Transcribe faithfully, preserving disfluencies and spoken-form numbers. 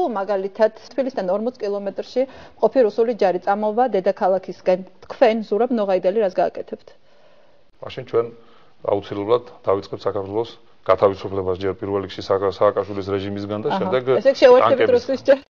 თუ მაგალითად თბილისიდან ორმოც კილომეტრში ყოფი რუსული ჯარი წამოვა დედაქალაქისკენ. თქვენ ზურაბ ნოღაიდელი რას გააკეთებთ? მაშინ ჩვენ აუცილებლად დავიწყებთ საქართველოს გათავისუფლებას ჯერ პირველ რიგში სააკაშვილის რეჟიმისგან და შემდეგ ესე შევერთებით რუსეთის ჯარს.